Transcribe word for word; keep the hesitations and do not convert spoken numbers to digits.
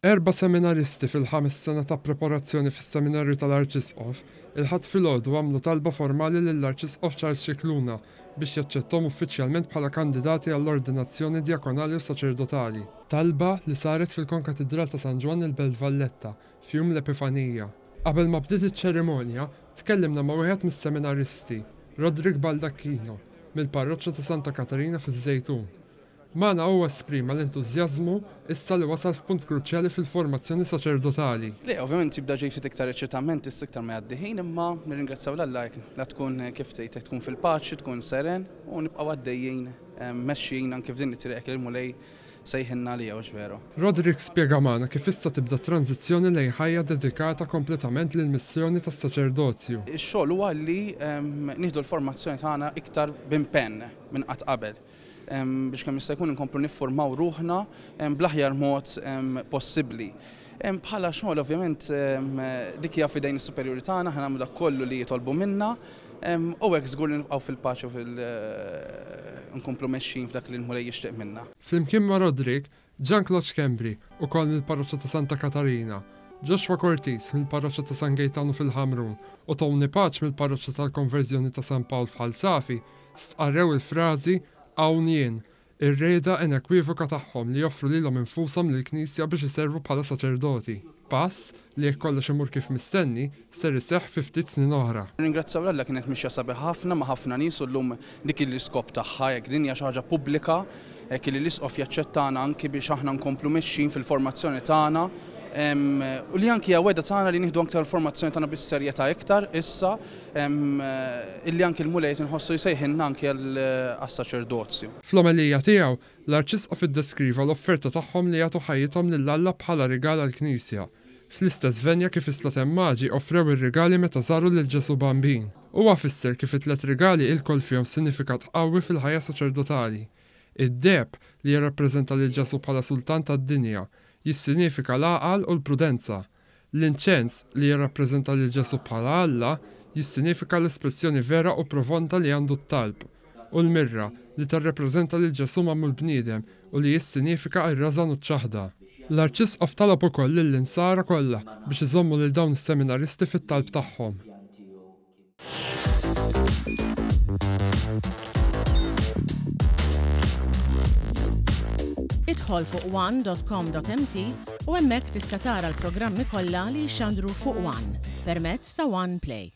Erba' seminaristi fil-ħames sena ta' preparazzjoni fis-Seminarju tal-Arċisqof, il-Ħadd filgħodu għamlu talba formali lill-Arċisqof Charles Scicluna biex jaċċettahom uffiċjalment bħala kandidati għall-ordinazzjoni djakonali u saċerdotali. Talba li saret fil-Konkatidral ta' San Ġwann il-Belt Valletta f'jum l-Epifanija. Qabel ma bdiet iċ-ċerimonja, tkellimna ma' wieħed mis-seminaristi, Roderick Baldacchino, mill-parroċċa ta' Santa Katarina fiż-Żejtun. Magħna huwa esprima l-entużjażmu issa li wasal f'punt kruċjali fil-formazzjoni saċerdotali. Le, ovvjament jibda ġej ftit iktar eċitament issa iktar ma jgħaddi ħin, imma nirringrazzjaw 'l Alla la tkun, kif tgħid, tkun fil-paċi, tkun seren u nibqgħu għaddejjin mexjin anke f'din it-triq li l-Mulej sejħilna li hux veru. Roderick spjega magħna kif issa tibda tranzizzjoni lejn ħajja dedikata kompletament lill-missjoni tas-saċerdozju. Ix-xogħol huwa li nieħdu l-formazzjoni tagħna iktar b'impenn minn qatt qabel biex kemm jista' jkun inkomplu niffurmaw ruħna bl-aħjar mod possibbli. Bħala xogħol, ovvjament, dik hija f'idejn is-superjuri tagħna, ħa nagħmlu dak kollu li jitolbu minna u hekk żgur li nibqgħu fil-paċi u fil nkomplu mexjin f'dak li l-Mulej jixtieq minna. Flimkien ma' Roderick, Jean Claude Schembri, ukoll mill-parroċċa ta' Santa Katarina, Joshua Cortis mill-parroċċa ta' San Gaetano fil-Ħamrun u Tony Pace mill-parroċċa tal-Konverżjoni ta' San Pawl f'Ħal Safi stqarrew il-frażi "Hawn jien", ir-rieda inekwivoka tagħhom li joffru lilhom infushom lill-Knisja biex iservu bħala saċerdoti. Pass li, jekk kollox imur kif mistenni, ser iseħħ fi ftit snin oħra. Ringrazzjaw 'l Alla, kienet mixja sabiħ ħafna ma' ħafna nies u llum dik l-iskop tagħha, jekk din hija xi ħaġa pubblika, hekk li l-isqof jaċċettana anki biex aħna nkomplu mexjin fil-formazzjoni tagħna u li anki hija wegħda tagħna li nieħdu aktar l-formazzjoni tagħna bis-serjetà iktar issa illi anki l-Mulej inħossu jsejħilna anki għas-saċerdozju. Fl-omelija tiegħu, l-Arċisqof iddeskriva l-offerta tagħhom li jagħtu ħajjithom lil Alla bħala rigal għall-Knisja. Fl-istess venja kif is-Slaten Maġi offrew ir-rigali meta żaru lil Ġesu Bambin. Huwa fisser kif it-tliet rigali ilkoll fihom sinifikat qawwi fil-ħajja saċerdotali. Id-deheb, li jirrappreżenta lil Ġesu bħala sultan tad-dinja, jissinifika l-għaqal u l-prudenza. L-inċens, li jirrappreżenta lil Ġesu bħala Alla, jissinifika l-espressjoni vera u profonda li għandu t-talb. U l-mirra, li tirrappreżenta lil Ġesu magħmul bniedem u li jissinifika r-rażan u ċ-ċaħda. L-Arċisqof talab ukoll lill-insara kollha biex iżommu lil dawn is-seminaristi fit-talb tagħhom. Idħol fuq one dot com dot M T u hemmhekk tista' tara l-programmi kollha li jixxandru fuq One permezz ta' One Play.